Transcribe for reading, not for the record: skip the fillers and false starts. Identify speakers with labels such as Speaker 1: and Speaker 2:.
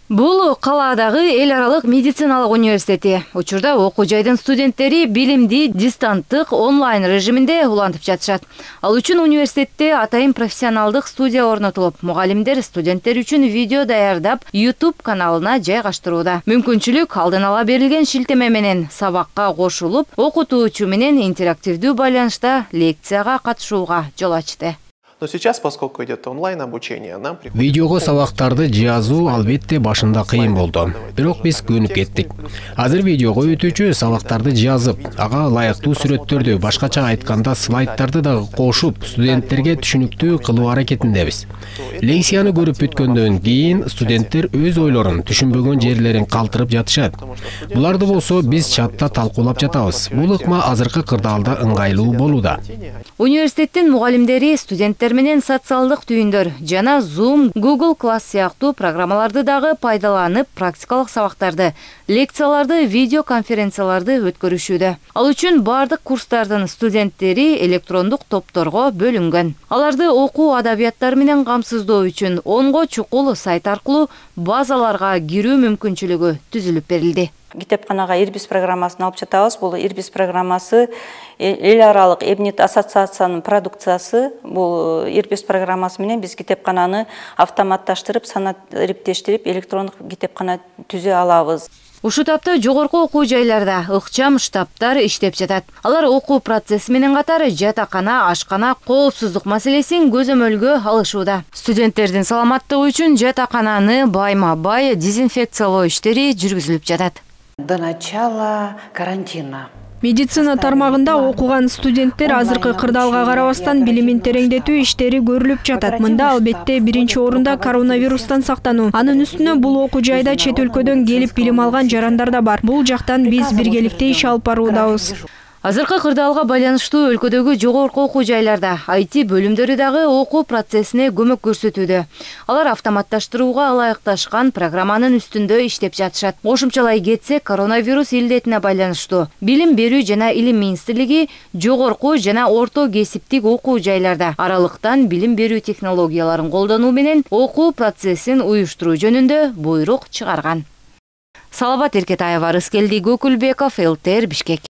Speaker 1: Бул калаадагы эл аралык медициналык университети. Учурда окуу жайдын студенттери билимди дистанттык онлайн режиминде улантып жатышат. Ал үчүн университетте атайын профессионалдык студия орнотулуп, мугалимдер студенттер үчүн видео даярдап, YouTube каналына жайгаштырууда. Мүмкүнчүлүк алдын ала берилген шилтеме менен сабакка кошулуп, окутуучу менен интерактивдүү байланышта лекцияга катышууга жол ачты.
Speaker 2: Но сейчас, поскольку идет онлайн обучение, нам приходится...
Speaker 3: Видеого сабактарды жазуу албетте башында кыйын болду. Бирок биз көнүп кеттик. Азыр видеого өтүүчү сабактарды жазып, ага ылайыктуу сүрөттөрдү, башкача айтканда слайдтарды да кошуп, студенттерге түшүнүктүү кылуу аракетиндебиз. Лекцияны көрүп бүткөндөн кийин студенттер өз ойлорун, түшүнбөгөн жерлерин калтырып жатышат. Буларды болсо биз чатта талкуулап жатабыз. Бул ыкма азыркы кырдаалда ыңгайлуу болууда.
Speaker 1: Университеттин мугалимдери студенттер менен социалдык түйүндөр жана Zoom, Google Class сыяктуу программаларды дагы пайдаланып, практикалык сабактарды, лекцияларды, видео конференцияларды өткөрүшүүдө. Ал үчүн бардык курстардын студенттери электрондук топторго бөлүнгөн. Аларды окуу адабияттары менен камсыздоо үчүн 10 чукул сайт аркылуу базаларга кирүү мүмкүнчүлүгү түзүлүп берилди.
Speaker 4: Китепканага Ирбис программасын алып жатабыз. Бул Ирбис программасы эл аралык Эбнет ассоциациянын продукциясы. Бул Ирбис программасы менен биз китепкананы автоматташтырып, санат ириптештирип, электрондук китепкана түзө алабыз.
Speaker 1: Ушул тапта жогорку окуу жайларда ыкчам штабтар иштеп жатат. Алар окуу процесси менен катар жатакана, ашкана, коопсуздук маселесин көзөмөлгө алышууда. Студенттердин саламаттыгы үчүн жатакананы байма-бай дезинфекциялоо иштери жүргүзүлүп жатат.
Speaker 5: До начала карантина.
Speaker 6: Медицина тармагында окуган студенттер азыркы кырдаалга карабастан билимин тереңдетүү иштери көрүлүп жатат. Мында албетте биринчи орунда коронавирустан сактануу. Анын үстүнө бул окуу жайда чет өлкөдөн келип билим алган жарандар да бар. Бул жактан биз биргеликте иш алып баруудабыз.
Speaker 1: Азыркы кырдаалга байланыштуу өлкөдөгү жогорку окуу жайларда IT бөлүмдөрү дагы окуу процессине көмөк көрсөтүүдө. Алар автоматташтырууга ылайыкташкан программанын үстүндө иштеп жатышат. Кошумчалай кетсек, коронавирус илдетине байланыштуу Билим берүү жана Илим министрлиги жогорку жана орто кесиптик окуу жайларда аралыктан билим берүү технологияларын колдонуу менен окуу процессин уюштуруу жөнүндө буйрук чыгарган. Салават Эркетаева, Рыскелди Көкүлбеков, ЛТР, Бишкек.